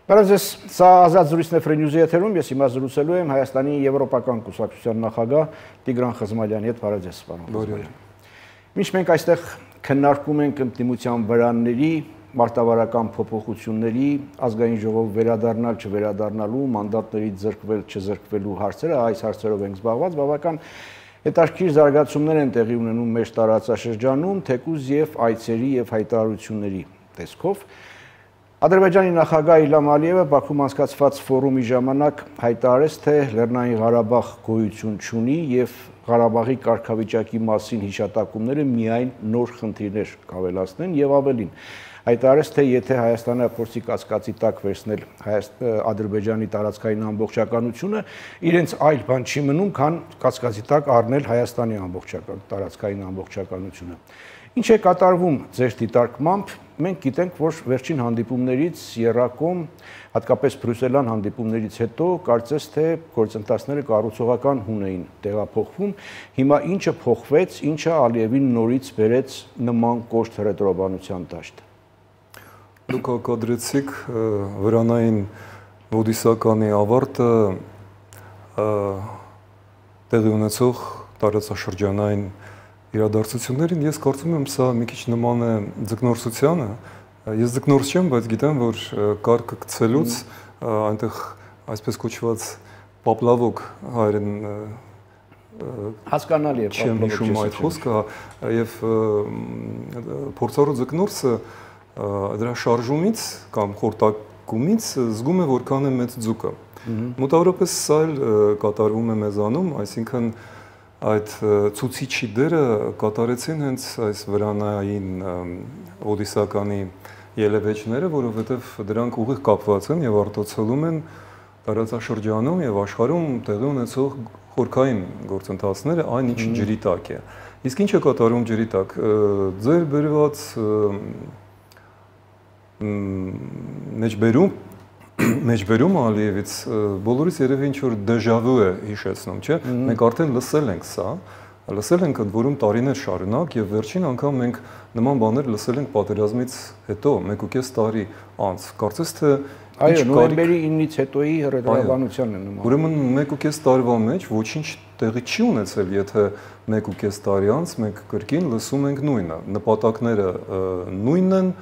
Բարև, սա ազատ զրույցն է Free News-ի եթերում, ես հիմա զրուցելու եմ Հայաստանի Եվրոպական կուսակցության նախագահ Տիգրան Խզմալյանի հետ, բարև ձեզ, պարոն Խզմալյան։ Մինչ մենք այստեղ քննարկում ենք ընդդիմության վրանների, մարտավարական փոփոխությունների, ազգային ժողով վերադառնալ, չվերադառնալու, մանդատներից զրկվել, չզրկվելու հարցերը, այս հարցերով ենք զբաղված, բավական հետաքրքիր զարգացումներ են տեղի ունենում մեր տարածաշրջանում, թեկուզ եւ այցերի եւ հայտարարությունների տեսքով։ Ադրբեջանի նախագահ Իլհամ Ալիևը Բաքվում անցկացված ֆորումի ժամանակ հայտարարեց, թե Լեռնային Ղարաբաղ գոյություն չունի եւ Ղարաբաղի կարգավիճակի մասին հիշատակումները միայն նոր խնդիրներ կավելացնեն եւ ավելին։ Հայտարարեց, թե եթե Հայաստանը փորձի կասկածի տակ վերցնել Ադրբեջանի տարածքային ամբողջականությունը, իրենց այլ բան չի մնում, քան կասկածի տակ առնել Հայաստանի տարածքային ամբողջականությունը։ Ինչ է կատարվում ձեր դիտարկմամբ, մենք գիտենք, որ վերջին հանդիպումներից եռակոմ, հատկապես բրյուսելյան հանդիպումներից հետո, կարծես թե գործընթացները կառուցողական հուն էին տեղափոխվում, հիմա ինչը փոխվեց, ինչը Ալիևին նորից բերեց նման կոշտ հռետորաբանության դաշտ։ Դուք հակադրեցիք վրանային ոդիսականի ավարտը տեղի ունեցող տարածաշրջանային իրադարձություններին, ես կարծում եմ, սա մի քիչ նման է ձկնորսությանը։ Ես ձկնորս չեմ, բայց գիտեմ, որ կարգը գցելուց այնտեղ այսպես կոչված պապլավոկ հայերեն հասկանալի է չեմ հիշում այդ խոսքը, եւ փորձառու ձկնորսը դրա շարժումից կամ խորտակումից զգում է որքան է մեծ ձուկը։ Մոտավորապես սա էլ կատարվում է մեզանում, այսինքն այդ ցուցիչի դերը կատարեցին հենց այս վրանային ոդիսականի ելևէջները, որովհետև դրանք ուղիղ կապված են եւ արտացոլում են տարածաշրջանում եւ աշխարհում տեղի ունեցող խորքային գործընթացները, այն ինչ ջրի տակ է։ Իսկ ինչ է կատարում ջրի տակ։ Ձեր բերված մեջբերում Ալիևից բոլորիս երևի ինչ-որ դեժավու է հիշեցնում, չէ՞։ Մենք արդեն լսել ենք սա, լսել ենք ընդ որում տարիներ շարունակ եւ վերջին անգամ մենք նման բաներ լսել ենք պատերազմից հետո, 1.5 տարի անց։ Կարծես թե այո, նոյեմբերի 9-ից հետոյի հռետորաբանությանն է նման։ Ուրեմն 1.5 տարվա մեջ ոչինչ տեղի չի ունեցել, եթե 1.5 տարի անց մենք կրկին լսում ենք նույնը։ Նպատակները նույնն են,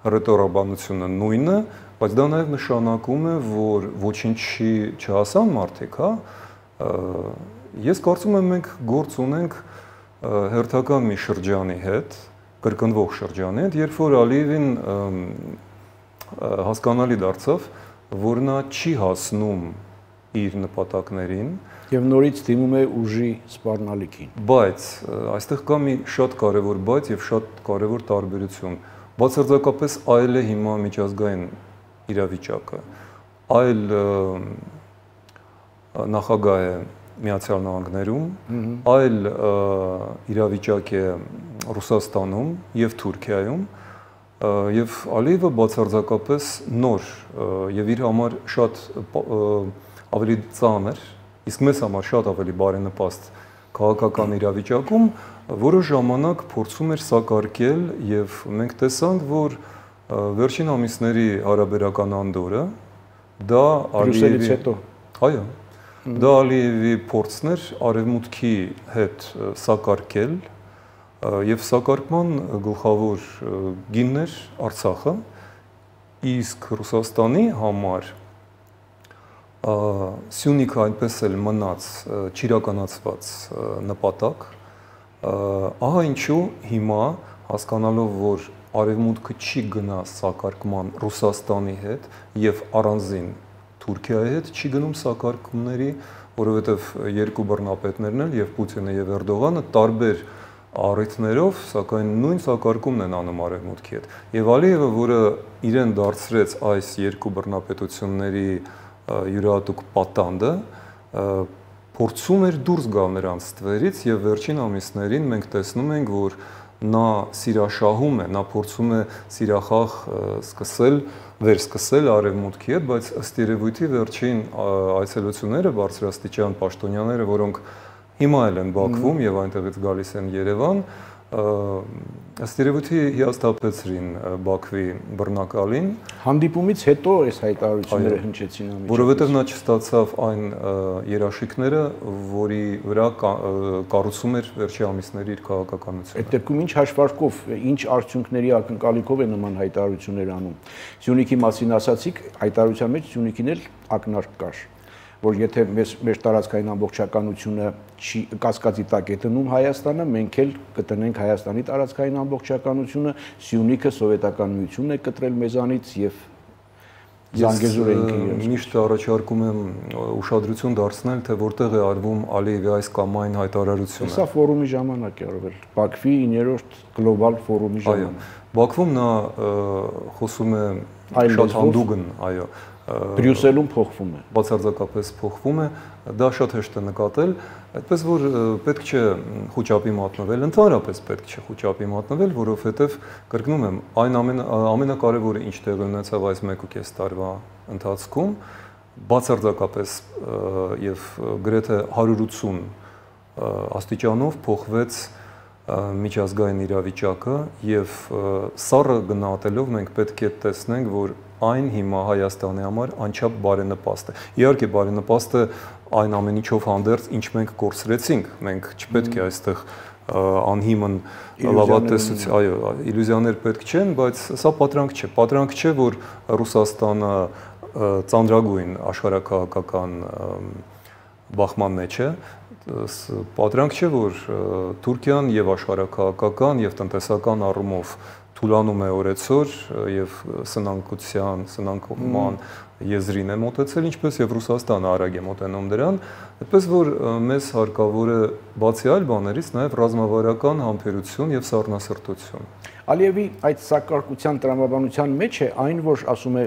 հռետորաբանությունը նույնն է, բայց դա նաև նշանակում է, որ ոչինչի չհասան մարդիկ, հա։ Ես կարծում եմ մենք գործ ունենք հերթական մի շրջանի հետ, կրկնվող շրջանի հետ, երբ որ Ալիևին հասկանալի դարձավ, որ նա չի հասնում իր նպատակներին եւ նորից դիմում է ուժի սպառնալիքին։ Բայց այստեղ կա մի շատ կարևոր բայց եւ շատ կարևոր տարբերություն։ Բացարձակապես այլ է հիմա միջազգային իրավիճակը, այլ նախագահ է Միացյալ Նահանգներում, այլ իրավիճակ է Ռուսաստանում եւ Թուրքիայում, եւ Ալիևը բացարձակապես նոր եւ իր համար շատ ավելի ծանր, իսկ մեզ համար շատ ավելի բարենպաստ քաղաքական իրավիճակում որոշ ժամանակ փորձում էր սակարկել եւ մենք տեսանք, որ վերջին ամիսների հարաբերական անդորը դա Բրյուսելից հետո այո դա Ալիևի փորձն էր արևմուտքի հետ սակարկել եւ սակարկման գլխավոր գինն էր Արցախը, իսկ Ռուսաստանի համար Սյունիքը այնպես էլ մնաց չիրականացված նպատակ, ահա ինչու հիմա հասկանալով, որ արևմուտքը չի գնա սակարկման Ռուսաստանի հետ եւ առանձին Թուրքիայի հետ չի գնում սակարկումների, որովհետեւ երկու բռնապետներն էլ եւ Պուտինը եւ Էրդողանը տարբեր առիթներով, սակայն նույն սակարկումն են անում արևմուտքի հետ։ Եվ Ալիևը, որը իրեն դարձրեց այս երկու բռնապետությունների յուրահատուկ պատանդը, փորձում էր դուրս գալ նրանց ստվերից եւ վերջին ամիսներին մենք տեսնում ենք, որ նա սիրաշահում է, նա փորձում է սիրախաղ վերսկսել արևմուտքի հետ, բայց ըստ երևույթի վերջին այցելությունները բարձրաստիճան պաշտոնյաները, որոնք հիմա էլ են Բաքվում եւ այնտեղից գալիս են Երևան, ըստ երևույթի հիասթափեցրին Բաքվի բռնակալին։ Հանդիպումից հետո այս հայտարարությունները հնչեցին ամիջապես։ Որովհետև նա չստացավ այն երաշխիքները, որի վրա կառուցում էր վերջի ամիսների իր քաղաքականությունը։ Այդ դեպքում ինչ հաշվարկով, ինչ արդյունքների ակնկալիքով է նման հայտարարություններ անում։ Սյունիքի մասին ասացիք, հայտարարության մեջ Սյունիքին էլ ակնարկ կար, որ եթե մեր տարածքային ամբողջականությունը չի կասկածի տակ է դնում Հայաստանը, մենք էլ կտնենք Հայաստանի տարածքային ամբողջականությունը, Սյունիքը սովետական միությունն է կտրել մեզանից եւ Զանգեզուր էինք միշտ առաջարկում եմ ուշադրություն դարձնել, թե որտեղ է արվում Ալիևի այս կամ այն հայտարարությունը։ Սա ֆորումի ժամանակ է արվել, Բաքվի 9-րդ գլոբալ ֆորումի ժամանակ։ Բաքվում նա խոսում է շատ հանդուգն, այո, Բրյուսելում փոխվում է։ Բացարձակապես փոխվում է, դա շատ հեշտ է նկատել, այդպես որ պետք չէ խոճապի մատնվել, ընդհանրապես պետք չէ խոճապի մատնվել, որովհետև կրկնում եմ, այն ամենակարևորը ինչ տեղի ունեցավ այս 1.5 տարվա ընթացքում, բացարձակապես եւ գրեթե 180 աստիճանով փոխվեց միջազգային իրավիճակը եւ սառը գնահատելով մենք պետք է տեսնենք, որ այն հիմա Հայաստանի համար անչափ բարենպաստ է։ Իհարկե բարենպաստ է այն ամեն ինչով հանդերձ, ինչ մենք կորցրեցինք, մենք չպետք է այստեղ անհիմն լավատեսություն, այո, իլյուզիաներ պետք չեն, բայց սա պատրանք չէ։ Պատրանք չէ, որ Ռուսաստանը ծանրագույն աշխարհաքաղաքական բախման մեջ է։ Պատրանք չէ, որ Թուրքիան եւ աշխարհաքաղաքական եւ տնտեսական առումով թուլանում է օրեցօր եւ սնանկության եզրին է մոտեցել, ինչպես եւ Ռուսաստանը արագ է մոտենում դրան, այդպես որ մեզ հարկավոր է բացի այլ բաներից նաեւ ռազմավարական համբերություն եւ սառնասրտություն։ Ալիևի այդ սակարկության տրամաբանության մեջ է այն, որ ասում է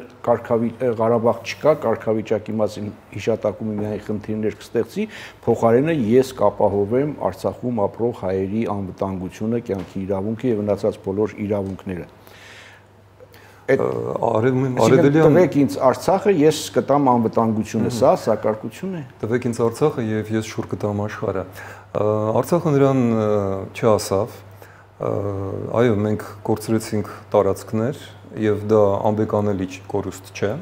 Ղարաբաղ չկա, կարգավիճակի մասին հիշատակում միայն խնդիրներ կստեղծի, փոխարենը ես կապահովեմ Արցախում ապրող հայերի անվտանգությունը, կյանքի իրավունքը եւ մնացած բոլոր իրավունքները։ Տվեք ինձ Արցախը, ես կտամ անվտանգությունը, սա սակարկություն է։ Տվեք ինձ Արցախը եւ ես շուռ կտամ աշխարհը։ Արցախը նրան չասավ։ Այո, մենք կորցրեցինք տարածքներ եւ դա անբեկանելի կորուստ չէ։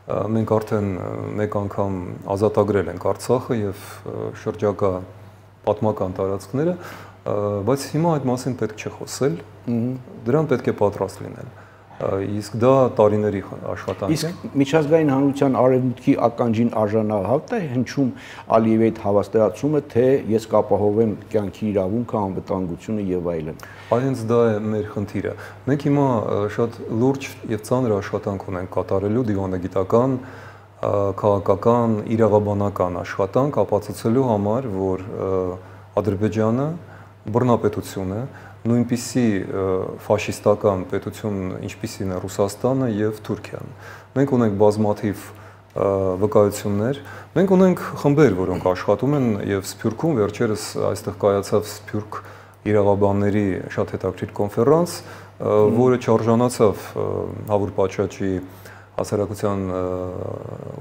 Մենք արդեն մեկ անգամ ազատագրել ենք Արցախը եւ շրջակա պատմական տարածքները, բայց հիմա այդ մասին պետք չէ խոսել։ Դրան պետք է պատրաստ լինել։ Իսկ դա տարիների աշխատանք է։ Իսկ միջազգային հանրության արևմուտքի ականջին արժանահավտ է հնչում Ալիևի այդ հավաստիացումը, թե ես կապահովեմ կյանքի իրավունքը, անվտանգությունը եւ այլն։ Այնց դա է մեր խնդիրը։ Մենք հիմա շատ լուրջ եւ ծանր աշխատանք ունենք կատարելու դիվանագիտական, քաղաքական, իրավաբանական աշխատանք ապացուցելու համար, որ Ադրբեջանը բռնապետություն է, նույնպիսի ֆաշիստական պետություն, ինչպիսին է Ռուսաստանը եւ Թուրքիան։ Մենք ունենք բազմաթիվ վկայություններ, մենք ունենք խմբեր, որոնք աշխատում են եւ Սփյուռքում վերջերս այստեղ կայացավ Սփյուռք իրավաբանների շատ հետաքրքիր կոնֆերանս, որը չարժանացավ Հավուր Պաչաչի հասարակության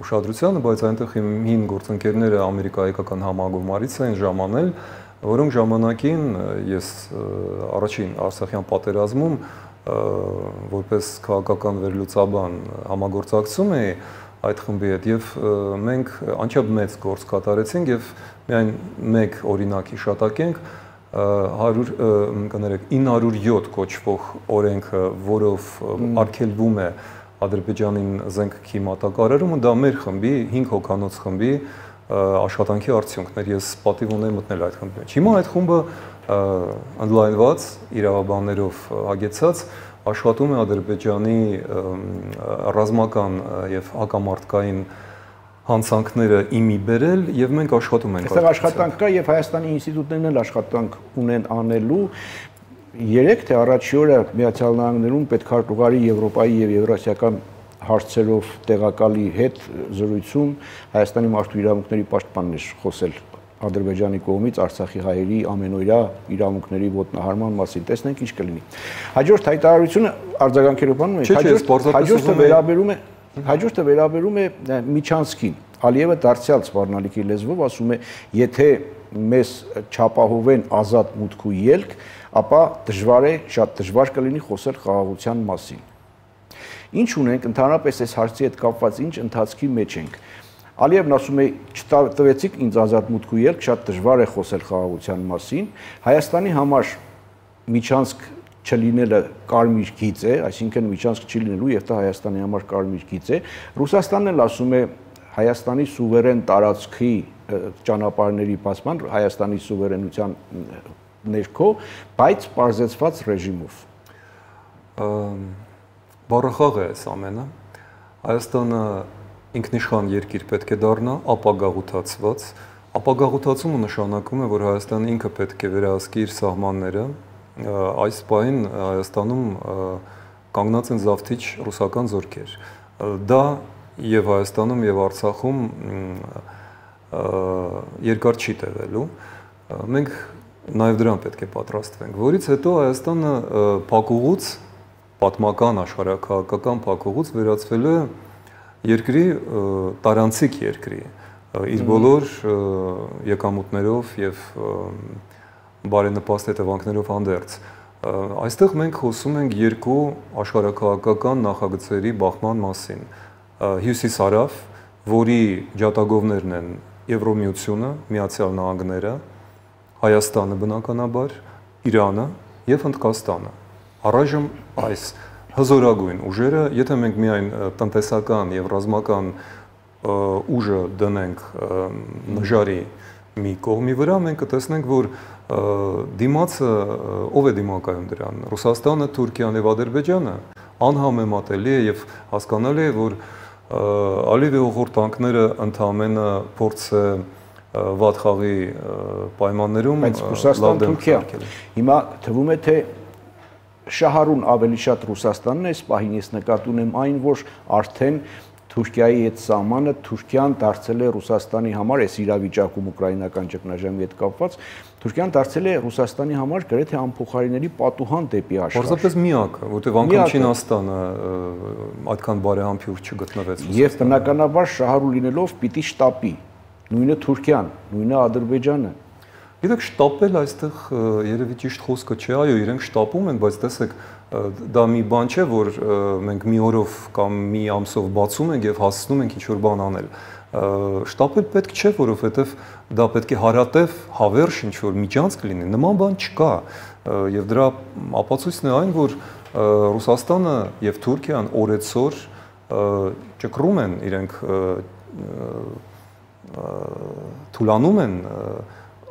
ուշադրությանը, բայց այնտեղ հին գործընկերները ամերիկայական համագումարից էին ժամանել, որոնք ժամանակին ես առաջին Արցախյան պատերազմում որպես քաղաքական վերլուծաբան համագործակցում էի այդ խմբի հետ եւ մենք անչափ մեծ գործ կատարեցինք եւ միայն մեկ օրինակ հիշատակենք 907 կոչվող օրենքը, որով արգելվում է Ադրբեջանին զենքի մատակարարումը, դա մեր խմբի 5 հոգանոց խմբի աշխատանքի արդյունքներ, ես պատիվ ունեի մտնել այդ խմբի մեջ։ Հիմա այդ խումբը ընդլայնված իրավաբաններով հագեցած աշխատում է Ադրբեջանի ռազմական եւ հակամարտկային հանցանքները իմի բերել եւ մենք աշխատում ենք։ Այստեղ աշխատանք կա եւ Հայաստանի ինստիտուտներն էլ աշխատանք ունեն անելու։ Երեք թե առաջի օրը Միացյալ Նահանգներում պետքարտուղարի Եվրոպայի եւ Եվրասիական հարցերով տեղակալի հետ զրույցում Հայաստանի մարդու իրավունքների պաշտպանն էր խոսել Ադրբեջանի կողմից Արցախի հայերի ամենօրյա իրավունքների ոտնահարման մասին։ Տեսնենք ինչ կլինի։ Հաջորդ հայտարարությունը արձագանքելով անում է, հաջորդը վերաբերում է Միչանսկին։ Ալիևը դարձյալ սպառնալիքի լեզվով ասում է, եթե մեզ չապահովեն ազատ մուտք ու ելք, ապա շատ դժվար կլինի խոսել խաղաղության մասին։ Ինչ ունենք ընդհանրապես այս հարցի հետ կապված ինչ ընթացքի մեջ ենք։ Ալիևն ասում է, չտվեցիք ինձ ազատ մուտքու ելք, շատ դժվար է խոսել խաղաղության մասին։ Հայաստանի համար միջանցք չլինելը կարմիր գիծ է, այսինքն միջանցք չի լինելու եւ դա Հայաստանի համար կարմիր գիծ է։ Ռուսաստանն էլ ասում է Հայաստանի սուվերեն տարածքի ճանապարհների բացման, Հայաստանի սուվերենության ներքո, բայց պարզեցված ռեժիմով։ Բառախաղ է այս ամենը։ Հայաստանը ինքնիշխան երկիր պետք է դառնա, ապագաղութացված։ Ապագաղութացումը նշանակում է, որ Հայաստանը ինքը պետք է վերահսկի իր սահմանները։ Այս պահին Հայաստանում կանգնած են զավթիչ ռուսական զորքեր։ Դա եւ Հայաստանում եւ Արցախում երկար չի տևելու։ Մենք նաեւ դրան պետք է պատրաստվենք, որից հետո Հայաստանը փակուղուց, պատմական աշխարհաքաղաքական փակուղուց վերածվել է երկրի տարանցիկ երկրի, իր բոլոր եկամուտներով եւ բարենպաստ հետևանքներով հանդերձ։ Այստեղ մենք խոսում ենք երկու աշխարհաքաղաքական նախագծերի բախման մասին։ Հյուսիսարավ, որի ջատագովներն են Եվրոմիությունը, Միացյալ Նահանգները, Հայաստանը բնականաբար, Իրանը եւ Հնդկաստանը։ Առայժմ այս հզորագույն ուժերը, եթե մենք միայն տնտեսական եւ ռազմական ուժը դնենք նժարի մի կողմի վրա, մենք կտեսնենք, որ դիմացը ով է դիմակայում դրան։ Ռուսաստանը, Թուրքիան եւ Ադրբեջանը անհամեմատելի է եւ հասկանալի է, որ Ալիևի ուղղորդանքները ընդհանրապես փորձ է վատ խաղի պայմաններում լավ դեմ քարկել։ Հիմա թվում է, թե Շահարուն ավելի շատ Ռուսաստանն է, այս պահին ես նկատի ունեմ այն, որ արդեն Թուրքիայի հետ սահմանը Թուրքիան դարձել է Ռուսաստանի համար, այս իրավիճակում ուկրաինական ճգնաժամի հետ կապված, Թուրքիան դարձել է Ռուսաստանի համար գրեթե անփոխարինելի պատուհան դեպի աշխարհ։ Պարզապես միակը, որտեղ անգամ Չինաստանը այդքան բարեհամբույր չգտնվեց։ Եվ բնականաբար Շահարու լինելով պիտի շտապի, նույնը Թուրքիան, նույնը Ադրբեջանը։ Գիտեք, շտապել այստեղ երևի ճիշտ խոսքը չէ, այո, իրենք շտապում են, բայց տեսեք, դա մի բան չէ, որ մենք մի օրով կամ մի ամսով բացում ենք եւ հասցնում ենք ինչ-որ բան անել։ Շտապել պետք չէ, որովհետեւ դա պետք է հարատև, հավերժ ինչ-որ միջանցք լինի, նման բան չկա։ Եվ դրա ապացույցն է այն, որ Ռուսաստանը եւ Թուրքիան օրեցօր ճկռում են իրենք թուլանում են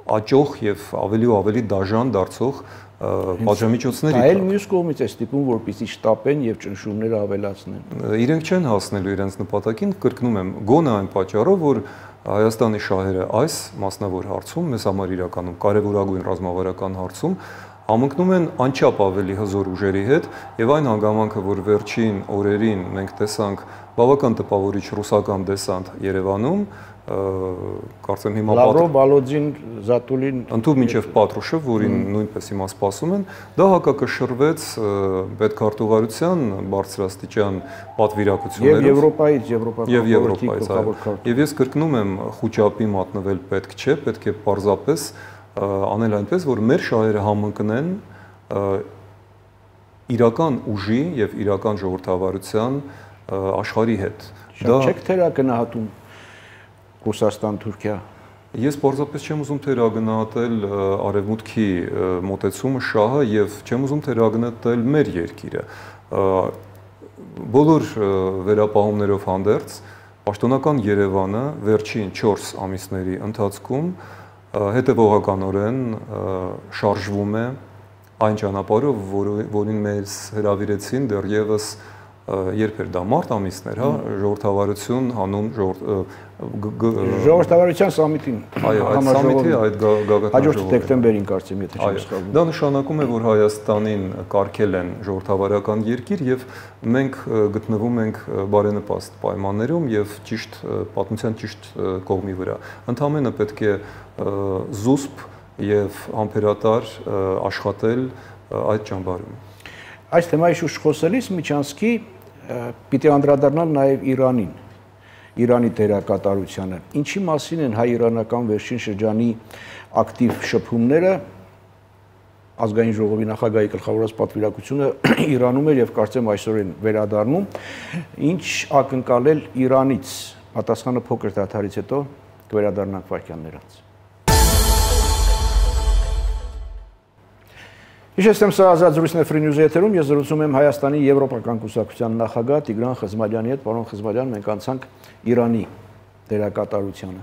աճող եւ ավելի ու ավելի դաժան դարձող պատժամիջոցների։ Դա էլ մյուս կողմից է ստիպում, որպեսզի շտապեն եւ ճնշումները ավելացնեն։ Իրենք չեն հասնելու իրենց նպատակին, կրկնում եմ, գոնե այն պատճառով, որ Հայաստանի շահերը այս մասնավոր հարցում, մեզ համար իրականում կարևորագույն ռազմավարական հարցում համընկնում են անչափ ավելի հզոր ուժերի հետ եւ այն հանգամանքը, որ վերջին օրերին մենք տեսանք բավական տպավորիչ ռուսական դեսանտ Երևանում, կարծեմ հիմա Լավրով, Բալոձին, Զատուլին ընդհանուր մինչև Պատրուշև, որին նույնպես հիմա սպասում են, դա հակակշռվեց պետքարտուղարության բարձրաստիճան պատվիրակություններով եւ Եվրոպայից, եւ ես կրկնում եմ, խոճապի մատնվել պետք չէ, պետք է պարզապես անել այնպես, որ մեր շահերը համընկնեն իրական ուժի եւ իրական ժողովրդավարության աշխարհի հետ։ Դա չեք թերագնահատում Ռուսաստան-Թուրքիա։ Ես պարզապես չեմ ուզում թերագնահատել արևմուտքի մոտեցումը շահը եւ չեմ ուզում թերագնահատել մեր երկիրը։ Բոլոր վերապահումներով հանդերձ պաշտոնական Երևանը վերջին 4 ամիսների ընթացքում հետևողականորեն շարժվում է այն ճանապարհով, որին մեզ հրավիրեցին դեռևս երբ էր դա մարտ ամիսներ, հա, ժողովրդավարություն հանուն ժողովրդավարության սամիտին, այո, այդ սամիտի այդ գագաթնաժողովը հաջորդ դեկտեմբերին կարծեմ, եթե չեմ սխալվում։ Դա նշանակում է, որ Հայաստանին կարգել են ժողովրդավարական երկիր եւ մենք գտնվում ենք բարենպաստ պայմաններում եւ ճիշտ պատմության ճիշտ կողմի վրա։ Ընդհանրապես պետք է զուսպ եւ համբերատար աշխատել այդ ճամբարում։ Այս թեմայի շուրջ խոսելիս միջանցքի պիտի անդրադառնալ նաև Իրանին, Իրանի դերակատարությանը։ Ինչի մասին են հայ-իրանական վերջին շրջանի ակտիվ շփումները ազգային ժողովի նախագահի գլխավորած պատվիրակությունը Իրանում էր եւ կարծեմ այսօր են վերադառնում, ինչ ակնկալել Իրանից, պատասխանը փոքր դադարից հետո կվերադառնանք վայրկյաններ անց։ Հիշեցնեմ, սա Ազատ զրույցն է Free News-ի եթերում, ես զրուցում եմ Հայաստանի Եվրոպական կուսակցության նախագահ Տիգրան Խզմալյանի հետ, պարոն Խզմալյան, մենք անցանք Իրանի դերակատարությանը։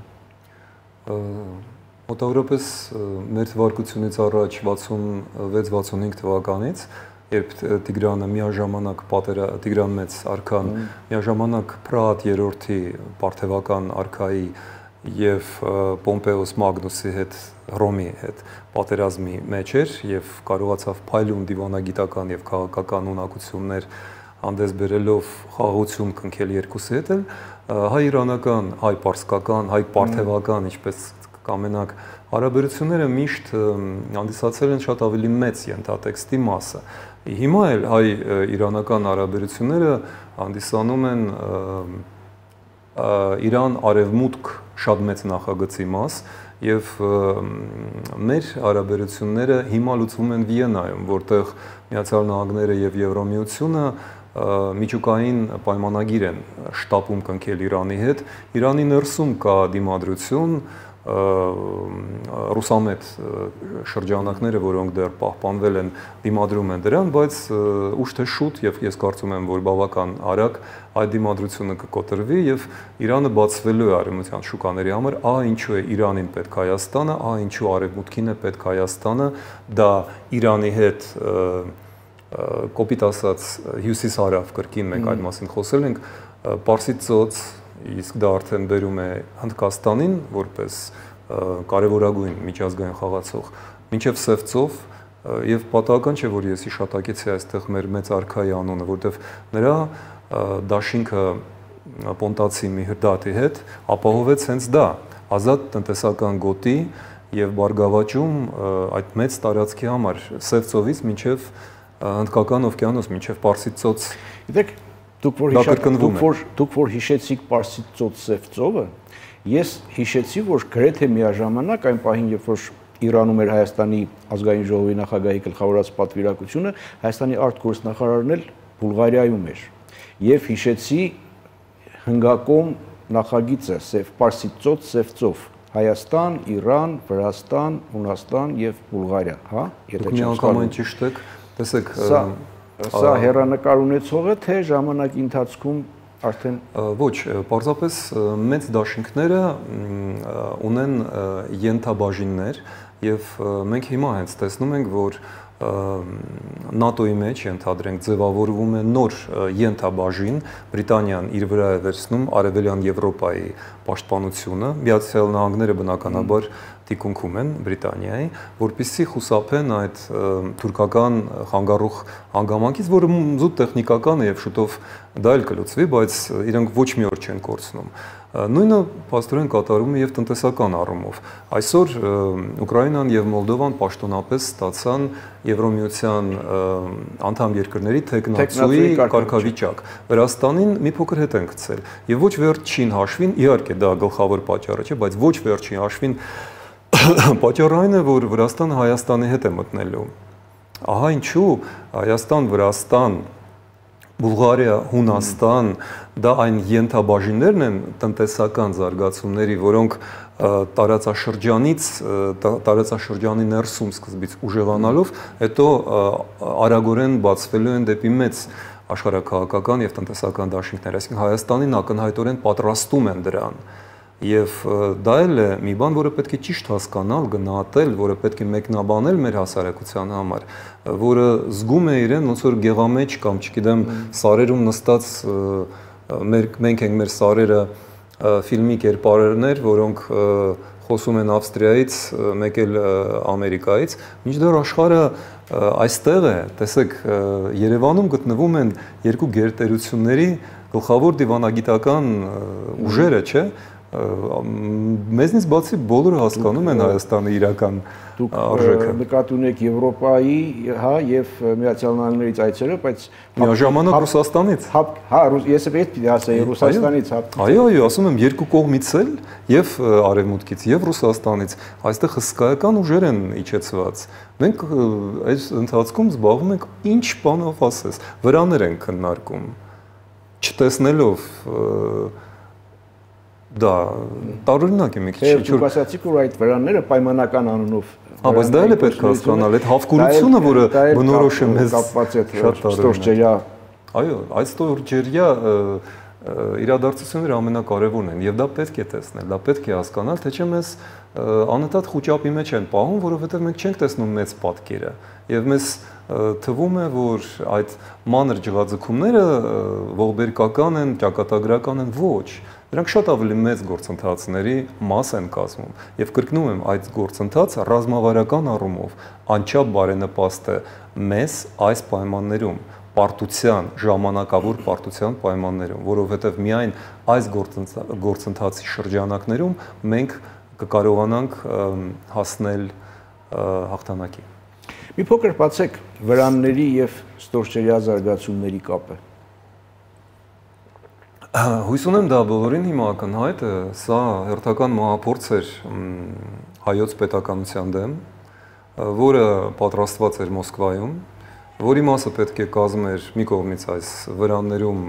Մոտավորապես մեր թվարկությունից առաջ 66-65 թվականից, երբ Տիգրանը միաժամանակ Տիգրան Մեծ արքան միաժամանակ Փրատ երրորդի պարթևական արքայի եւ Պոմպեոս Մագնուսի հետ Հռոմի հետ պատերազմի մեջ էր եւ կարողացավ փայլուն դիվանագիտական եւ քաղաքական ունակություններ հանդես բերելով խաղաղություն կնքել երկուսի հետ, հայ-իրանական, հայ-պարսկական, հայ-պարթևական, ինչպես կամենակ հարաբերությունները միշտ հանդիսացել են շատ ավելի մեծ ենթատեքստի մասը։ Հիմա էլ հայ-իրանական հարաբերությունները հանդիսանում են Իրան-արևմուտք շատ մեծ նախագծի մաս եւ մեր հարաբերությունները հիմա լուծվում են Վիեննայում, որտեղ Միացյալ Նահանգները եւ Եվրամիությունը միջուկային պայմանագիր են շտապում կնքել Իրանի հետ։ Իրանի ներսում կա դիմադրություն, ռուսամետ շրջանակները, որոնք դեռ պահպանվել են, դիմադրում են դրան, բայց ուշ թե շուտ եւ ես կարծում եմ, որ բավական արագ այդ դիմադրությունը կկոտրվի եւ Իրանը բացվելու է արևմտյան շուկաների համար, ինչու է Իրանին պետք Հայաստանը, ինչու արևմուտքին է պետք Հայաստանը, դա Իրանի հետ կոպիտ ասած հյուսիս-հարավ կրկին մենք այդ մասին խոսել ենք, Պարսից ծոց, իսկ դա արդեն բերում է Հնդկաստանին որպես կարևորագույն միջազգային խաղացող, մինչև Սև ծով եւ պատահական չէ, որ ես հիշատակեցի այստեղ մեր մեծ արքայի անունը, որտեղ նրա դաշինքը Պոնտացի Միհրդատի հետ ապահովեց հենց դա, ազատ տնտեսական գոտի եւ բարգավաճում այդ մեծ տարածքի համար Սև ծովից մինչև Հնդկական օվկիանոս, մինչև Պարսից ծոց։ Գիտեք, դուք որ հիշեցիք Պարսից ծոց Սև ծովը, ես հիշեցի, որ գրեթե միաժամանակ այն պահին, երբ որ Իրանում էր Հայաստանի ազգային ժողովի նախագահի գլխավորած պատվիրակությունը, Հայաստանի արտգործնախարարն էլ Բուլղարիայում էր։ Եվ հիշեցի հնգակոմ նախագիծը Պարսից ծոց Սև ծով, Հայաստան, Իրան, Վրաստան, Հունաստան եւ Բուլղարիա, հա? Դուք միանգամայն ճիշտ եք, տեսեք, Սա հերանեկար ունեցող է, թե ժամանակի ընթացքում արդեն ոչ, պարզապես մեծ դաշինքները ունեն ենթաբաժիններ եւ մենք հիմա հենց տեսնում ենք, որ ՆԱՏՕ-ի մեջ ենթադրենք ձևավորվում է նոր ենթաբաժին, Բրիտանիան իր վրա է վերցնում Արևելյան Եվրոպայի պաշտպանությունը, Միացյալ Նահանգները բնականաբար թիկունքում են Բրիտանիայի, որպեսզի խուսափեն այդ թուրքական խանգարող հանգամանքից, որը զուտ տեխնիկական է եւ շուտով դա էլ կլուծվի, բայց իրենք ոչ մի օր չեն կորցնում։ Նույնը փաստորեն կատարում է եւ տնտեսական առումով։ Այսօր Ուկրաինան եւ Մոլդովան պաշտոնապես ստացան Եվրոմիության անդամ երկրների թեկնածուի կարգավիճակ։ Վրաստանին մի փոքր հետ են գցել եւ ոչ վերջին հաշվին, իհարկե դա գլխավոր պատճառը չէ, բայց ոչ վերջին հաշվին պատճառը այն է, որ Վրաստանը Հայաստանի հետ է մտնելու։ Ահա ինչու Հայաստան, Վրաստան, Բուլղարիա, Հունաստան, դա այն ենթաբաժիններն են տնտեսական զարգացումների, որոնք տարածաշրջանի ներսում սկզբից ուժեղանալով, հետո արագորեն բացվելու են դեպի մեծ աշխարհաքաղաքական եւ տնտեսական դաշինքներ, այսինքն Հայաստանին ակնհայտորեն պատրաստում են դրան։ Եվ դա էլ է մի բան, որը պետք է ճիշտ հասկանալ, գնահատել, որը պետք է մեկնաբանել մեր հասարակության համար, որը զգում է իրեն ոնց որ գեղամեջ կամ, չգիտեմ, սարերում նստած մենք ենք մեր սարերը ֆիլմի կերպարներ, որոնք խոսում են Ավստրիայից, մեկ էլ Ամերիկայից, մինչդեռ աշխարհը այստեղ է, տեսեք, Երևանում գտնվում են երկու գերտերությունների գլխավոր դիվանագիտական ուժերը, չէ՞, մեզնից բացի բոլորը հասկանում են Հայաստանի իրական արժեքը։ Դուք նկատի ունեք Եվրոպայի, հա, եւ Միացյալ Նահանգներից այցերը, բայց միաժամանակ Ռուսաստանից։ Հա, ես էլ պիտի ասեի Ռուսաստանից, հա։ Այո, ասում եմ երկու կողմից էլ եւ արևմուտքից եւ Ռուսաստանից այստեղ հսկայական ուժեր են իջեցված։ Մենք այս ընթացքում զբաղվում ենք ինչ բանով ասես, վրաներ են քննարկում, չտեսնելով դա տարօրինակ է մի քիչ։ Դուք ասացիք, որ այդ վրանները պայմանական անունով։ Բայց դա էլ է պետք հասկանալ, այդ հավկուրությունը, որը բնորոշ է մեզ կապված է ստորջերյա։ Այո, այդ ստորջերյա իրադարձությունները ամենակարևորն են եւ դա պետք է տեսնել, դա պետք է հասկանալ, թե չէ մեզ անընդհատ խոճապի մեջ են պահում, որովհետեւ մենք չենք տեսնում մեծ պատկերը եւ մեզ թվում է, որ այդ մանր ջղաձգումները ողբերգական են, ճակատագրական են, ոչ։ Դրանք շատ ավելի մեծ գործընթացների մաս են կազմում եւ կրկնում եմ, այդ գործընթացը ռազմավարական առումով անչափ բարենպաստ է մեզ այս պայմաններում, պարտության, ժամանակավոր պարտության պայմաններում, որովհետեւ միայն այս գործընթացի շրջանակներում մենք կկարողանանք հասնել հաղթանակի։ Մի փոքր բացեք վրանների եւ ստորջերյա զարգացումների կապը։ Հույս ունեմ դա բոլորին հիմա ակնհայտ է, սա հերթական մահափորձ էր հայոց պետականության դեմ, որը պատրաստված էր Մոսկվայում, որի մասը պետք է կազմեր մի կողմից այս վրաններում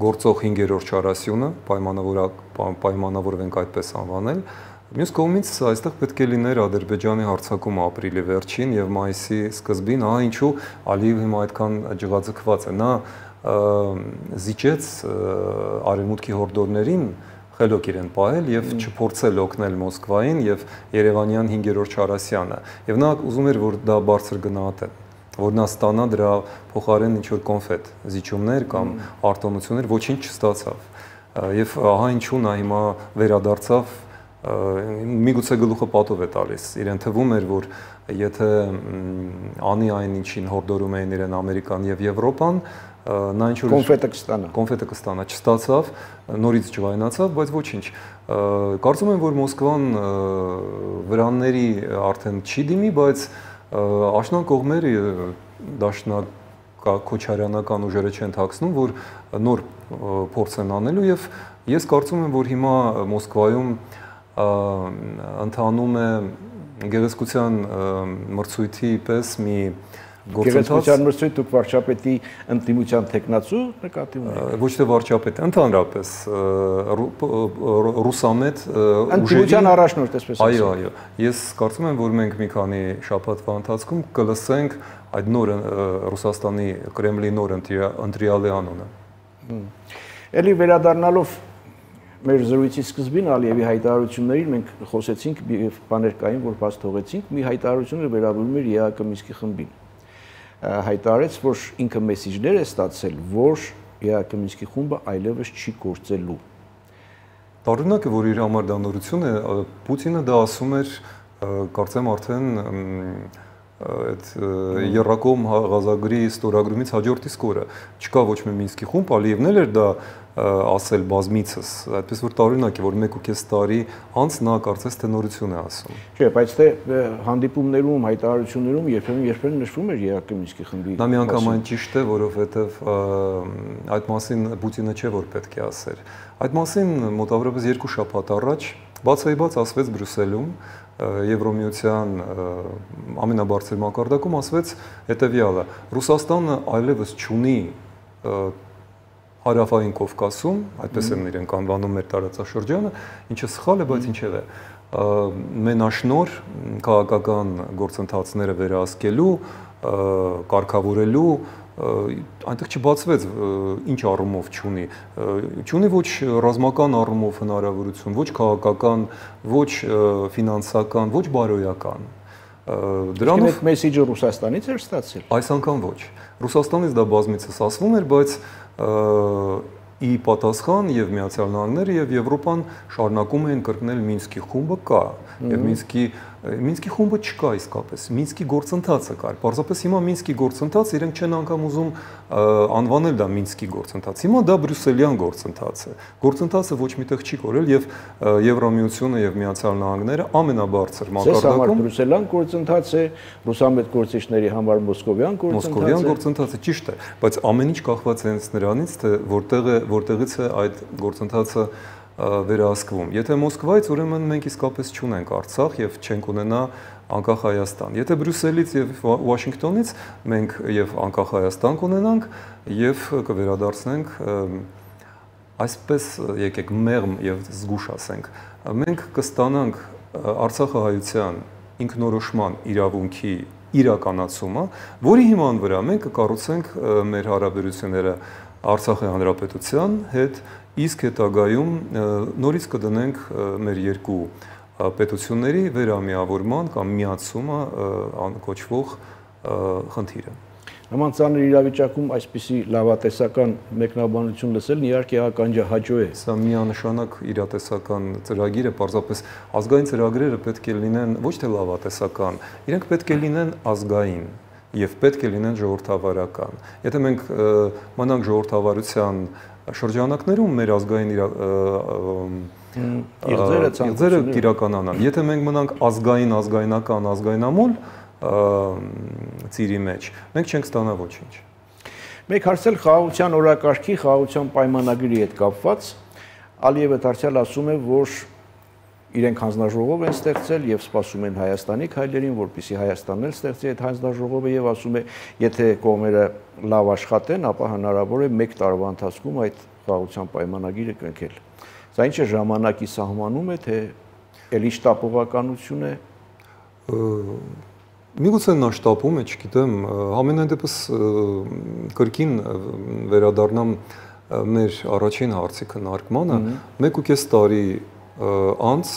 գործող 5-րդ չարասյունը, պայմանավորվենք այդպես անվանել, մյուս կողմից այստեղ պետք է լիներ Ադրբեջանի հարձակումը ապրիլի վերջին եւ մայիսի սկզբին, ահա ինչու Ալիև հիմա այդքան ջղաձգված է, նա զիջեց արևմուտքի հորդորներին խելոք իրեն պահել եւ չփորձել օգնել Մոսկվային եւ Երևանյան 5-րդ չարասյանը եւ նա ուզում էր որ դա բարձր գնահատեն, որ նա ստանա դրա փոխարեն ինչ որ կոնֆետ զիջումներ կամ արտոնություններ, ոչինչ չստացավ եւ ահա ինչու նա հիմա վերադարձավ, միգուցե գլուխը պատով է տալիս, իրեն թվում էր որ եթե անի այն ինչին հորդորում էին իրեն Ամերիկան եւ Եվրոպան, նա ինչ որ կոնֆետը կստանա, չստացավ, նորից ջղայնացավ, բայց ոչինչ։ Կարծում եմ, որ Մոսկվան վրանների արդեն չի դիմի, բայց աշնան կողմերը դաշնակ քոչարյանական ուժերը չեն թաքցնում, որ նոր փորձ են անելու եւ ես կարծում եմ, որ հիմա Մոսկվայում ընթանում է գեղեցկության մրցույթի պես մի Գեղեցկության մրցույթ դուք վարչապետի ընդդիմության տեխնացու նկատի ունեք։ Ոչ թե վարչապետ, ընդհանրապես ռուսամետ ընդդիմության առաջնորդ, այսպես ասած։ Այո, ես կարծում եմ, որ մենք մի քանի շաբաթվա ընթացքում կլսենք այդ նոր Ռուսաստանի Կրեմլի նոր ընտրյալի անունը։ Էլի վերադառնալով մեր զրույցի սկզբին Ալիևի հայտարարություններին մենք խոսեցինք եւ բաներ կային, որ բաց թողեցինք, մի հայտարարությունը վերաբերում էր ԵԱԿ Մինսկի խմբին։ Հայտարարեց, որ ինքը մեսիջներ է ստացել, որ ԵԱԿ Մինսկի խումբը այլևս չի գործելու։ Տարօրինակ է, որ իր համար դա նորություն է, Պուտինը դա ասում էր, կարծեմ արդեն այդ Երակոմ Ղազագրի ստորագրումից հաջորդ իսկ օրը չկա ոչ մի Մինսկի խումբ, Ալիևն էլ էր դա ասել բազմիցս, այդպես որ տարօրինակ է, որ 1.5 տարի անց նա կարծես թե նորություն է ասում։ Չէ, բայց թե հանդիպումներում, հայտարարություններում երբեմն նշվում էր ԵԱԿ Մինսկի խմբի։ Դա միանգամայն ճիշտ է, որովհետև այդ մասին Պուտինը չէ որ պետք է ասեր։ Այդ մասին մոտավորապես 2 շաբաթ առաջ բացայբաց ասվեց Բրյուսելում Եվրոմիության ամենաբարձր մակարդակում ասվեց հետևյալը. Ռուսաստանը այլևս չունի Հարավային Կովկասում, այդպես են իրենք անվանում մեր տարածաշրջանը, ինչը սխալ է, բայց ինչև է, մենաշնոր քաղաքական գործընթացները վերահսկելու, կարգավորելու, այնտեղ չբացվեց ինչ առումով չունի ոչ ռազմական առումով հնարավորություն, ոչ քաղաքական, ոչ ֆինանսական, ոչ բարոյական։ Դրանով մեսիջը Ռուսաստանից էր ստացել։ Այս անգամ ոչ։ Ռուսաստանից դա բազմիցս ասվում էր, բայց ի պատասխան եւ Միացյալ Նահանգները եւ Եվրոպան շարունակում էին կրկնել Մինսկի խումբը կա եւ Մինսկի Մինսկի խումբը չկա իսկապես, Մինսկի գործընթացը կար։ Պարզապես հիմա Մինսկի գործընթաց իրենք չեն անգամ ուզում անվանել դա Մինսկի գործընթաց։ Հիմա դա բրյուսելյան գործընթաց է։ Գործընթացը ոչ միտեղ չի կորել եւ Եվրամիությունը եւ Միացյալ Նահանգները ամենաբարձր մակարդակում բրյուսելյան գործընթաց է, ռուսամետ գործիչների համար մոսկովյան գործընթաց է, ճիշտ է, բայց ամեն ինչ կախված է հենց նրանից, թե որտեղից է այդ գործընթացը վերահսկվում։ Եթե Մոսկվայից, ուրեմն մենք իսկապես չունենք Արցախ եւ չենք ունենա անկախ Հայաստան։ Եթե Բրյուսելից եւ Վաշինգտոնից մենք եւ անկախ Հայաստան կունենանք եւ կվերադարձնենք այսպես եկեք մեղմ եւ զգուշ ասենք, մենք կստանանք Արցախահայության ինքնորոշման իրավունքի իրականացումը, որի հիման վրա մենք կկառուցենք մեր հարաբերությունները Արցախի հանրապետության հետ, իսկ հետագայում նորից կդնենք մեր երկու պետությունների վերամիավորման կամ միացումը կոչվող խնդիրը։ Նման ծանր իրավիճակում այսպիսի լավատեսական մեկնաբանություն լսելն իհարկե ականջահաճո է։ Սա միանշանակ իրատեսական ծրագիր է, պարզապես ազգային ծրագրերը պետք է լինեն ոչ թե լավատեսական, իրենք պետք է լինեն ազգային եւ պետք է լինեն ժողովրդավարական։ Եթե մենք մնանք ժողովրդավարության շրջանակներում մեր ազգային իղձերը կիրականանան։ Եթե մենք մնանք ազգայնական, ազգայնամոլ ծիրի մեջ, մենք չենք ստանա ոչինչ։ Մեկ հարցել խաղաղության օրակարգի, խաղաղության պայմանագրի հետ կապված, Ալիևը դարձյալ ասում է, որ իրենք հանձնաժողով են ստեղծել եւ սպասում են Հայաստանի քայլերին, որպեսզի Հայաստանն էլ ստեղծի այդ հանձնաժողովը եւ ասում է, եթե կողմերը լավ աշխատեն, ապա հնարավոր է 1 տարվա ընթացքում այդ խաղաղության պայմանագիրը կնքել։ Սա ինչ է ժամանակի սահմանում է, թե ելի շտապողականություն է։ Միգուցե նա շտապում է, չգիտեմ, համենայն դեպս կրկին վերադառնամ մեր առաջին հարցի քննարկմանը, 1.5 տարի անց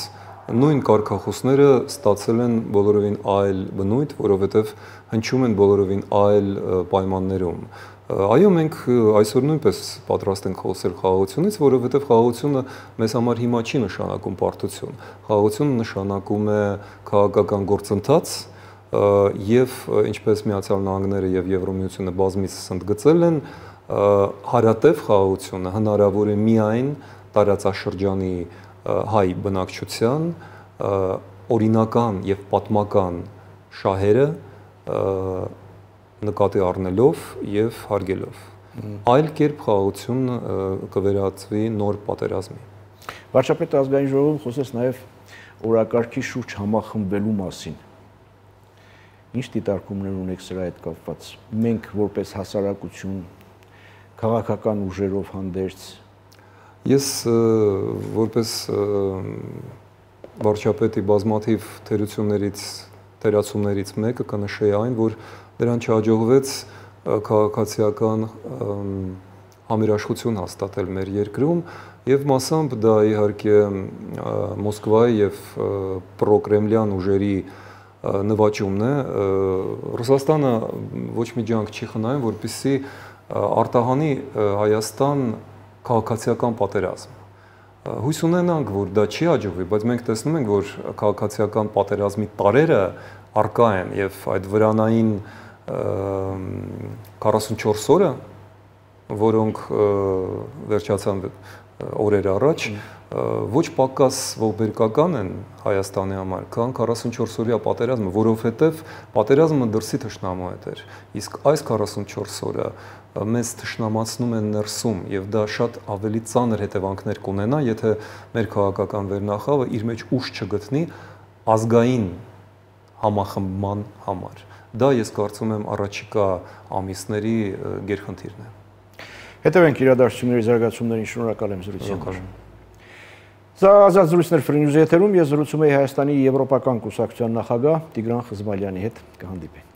նույն կարգախոսները ստացել են բոլորովին այլ բնույթ, որովհետև հնչում են բոլորովին այլ պայմաններում։ Այո, մենք այսօր նույնպես պատրաստ ենք խոսել խաղաղությունից, որովհետև խաղաղությունը մեզ համար հիմա չի նշանակում պարտություն։ Խաղաղությունը նշանակում է քաղաքական գործընթաց եւ ինչպես Միացյալ Նահանգները եւ Եվրամիությունը բազմիցս ընդգծել են, հարատև խաղաղությունը հնարավոր է միայն տարածաշրջանի հայ բնակչության օրինական եւ պատմական շահերը նկատի առնելով եւ հարգելով։ Այլ կերպ խաղաղությունը կվերածվի նոր պատերազմի։ Վարչապետ ազգային ժողովում խոսեց նաեւ օրակարգի շուրջ համախմբելու մասին։ Ինչ դիտարկումներ ունեք սրա հետ կապված։ Մենք որպես հասարակություն քաղաքական ուժերով հանդերձ Ես որպես վարչապետի բազմաթիվ թերացումներից մեկը կնշեի այն, որ դրան չհաջողվեց քաղաքացիական համերաշխություն հաստատել մեր երկրում եւ մասամբ դա իհարկե Մոսկվայի եւ պրոկրեմլյան ուժերի նվաճումն է։ Ռուսաստանը ոչ մի ջանք չի խնայում, որպեսզի արտահանի Հայաստան քաղաքացիական պատերազմ։ Հույս ունենանք, որ դա չի հաջողվի, բայց մենք տեսնում ենք, որ քաղաքացիական պատերազմի տարերը առկա են եւ այդ վրանային 44 օրը, որոնք վերջացան օրեր առաջ, ոչ պակաս ողբերգական են Հայաստանի համար, քան 44-օրյա պատերազմը, որովհետև պատերազմը դրսի թշնամու հետ էր, իսկ այս 44 օրը մեզ թշնամացնում են ներսում եւ դա շատ ավելի ծանր հետևանքներ կունենա, եթե մեր քաղաքական վերնախավը իր մեջ ուժ չգտնի ազգային համախմբման համար։ Դա ես կարծում եմ առաջիկա ամիսների գերխնդիրն է։ Հետևենք իրադարձությունների զարգացումներին, շնորհակալ եմ զրույցի համար։ Սա ազատ զրույցներ Free News եթերում, ես զրուցում եի Հայաստանի Եվրոպական կուսակցության նախագահ Տիգրան Խզմալյանի հետ, կհանդիպենք։